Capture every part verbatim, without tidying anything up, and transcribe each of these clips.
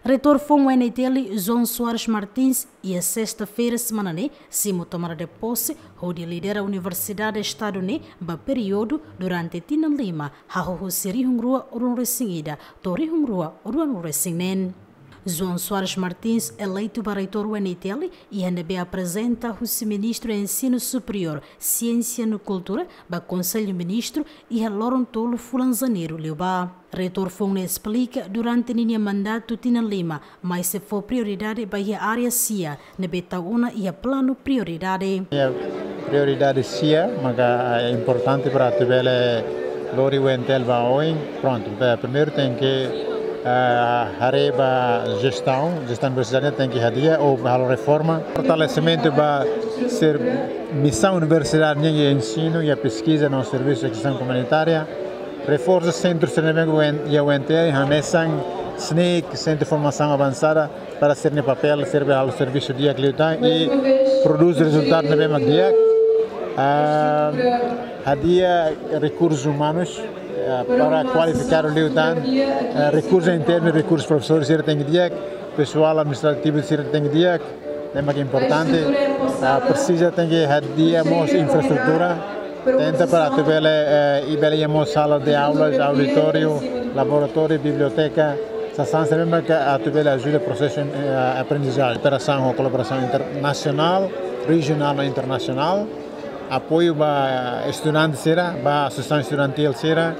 Reitór foun UNTL, João Soares Martins, iha sesta-feira semana ne'e simu tomada de pose hodi lidera Universidade Estadu ne'e ba períodu durante tinan lima, hahú husi rihun rua ruanulu-resin-ida to'o rihun rua ruanulu-resin-neen. João Soares Martins eleitu ba reitór UNTL, iha ne'ebé aprezenta husi Ministru Ensinu Superiór, Siénsia no Kultura ba Konsellu Ministru iha loron tolu fulan Janeiru liubá. Reitór foun ne'e esplika durante ninia mandatu tinan lima, mai sei fó prioridade ba iha área sia ne'ebé tau ona iha planu prioridade. Iha prioridade sia maka, eh, importante para atu bele lori UNTL ba oin. Prontu, ba primeiru tenke, eh, haree ba jestaun, jestaun universitária tenke hadi'a ou halo reforma. Fortalesimentu ba ser misaun universitária nian iha ensinu, iha peskiza no servisu de asaun komunitária. Reforsa sentru sira ne'ebé UN, iha UNTL, hanesan SNIC, Sentru Formasaun Avansada, para sira-nia papél, sira bele halo servisu di'ak liután i prodús rezultadu ne'ebé mak di'ak. Ah, hadi'a rekursus umanus, ah, para kualifikadu liután, ah, rekursu internu, rekursu profesór sira tenke di'ak, pesoál administrativu sira tenke di'ak, ne'e mak importante. Ah, presiza tenke hadi'a mós infraestrutura. Tenta para atu bele, eh, i bele iha mós sala de aulas, auditóriu, laboratóriu, biblioteka. Sasán sira ne'ebé mak atu bele ajuda prosesu, eh, aprendizajen, kooperasaun ho kolaborasaun internasionál, rejionál no internasionál. Apoiu ba estudante sira, ba asosiasaun estudantil sira.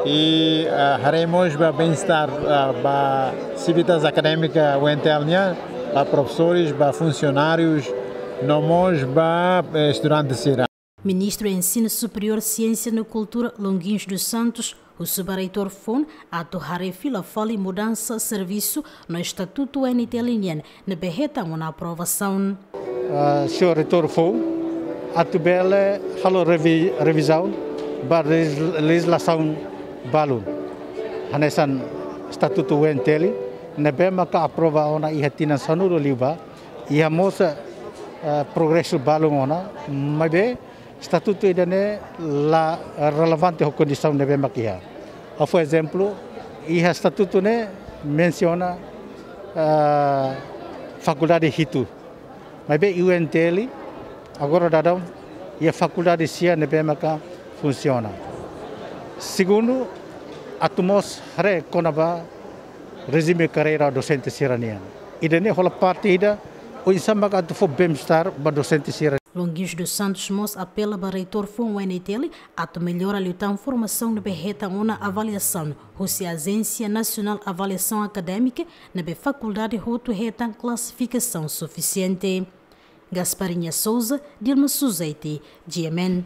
I, eh, haree mós ba bem-estar, eh, ba sivitas akadémika UNTL nian, ba profesores, ba funsionárius, no mós ba, eh, estudante sira. Ministru Ensinu Superiór, Siénsia no Kultura, Longuinhos dos Santos, husu ba reitór foun atu haree fila fali mudansa servisu no estatutu UNTL nian ne'ebé hetan ona aprovasaun. Ah, señór reitór foun atu bele halo revi-, revizaun ba legis-, lejizlasaun balun. Hanesan estatutu UNTL ne'ebé maka aprova ona iha tinan sanulu liubá, iha mós, eh, progresu balun ona, maibé estatutu ida-ne'e la relevante ho kondisaun ne'ebé mak iha. Ha'u fó ezemplu, iha estatutu ne'e mensiona, eh, fakuldade hitu. Maibé UNTL agora daudaun iha fakuldade sia ne'ebé maka funsiona. Segundu, atu mós haree kona-ba rejime karreira dosente sira-nian. Ida-ne'e hola parte ida oinsá maka atu fó bem-estar ba dosente sira. Longuinhos dos Santos mós apela ba reitór foun UNTL atu mellora liután formasaun ne'ebé hetan ona avaliasaun husi Ajénsia Nasionál Avaliasaun Akadémika ne'ebé fakuldade hotu hetan klasifikasaun sufisiente. Gasparinha Souza, Dilma Suzete, GMN.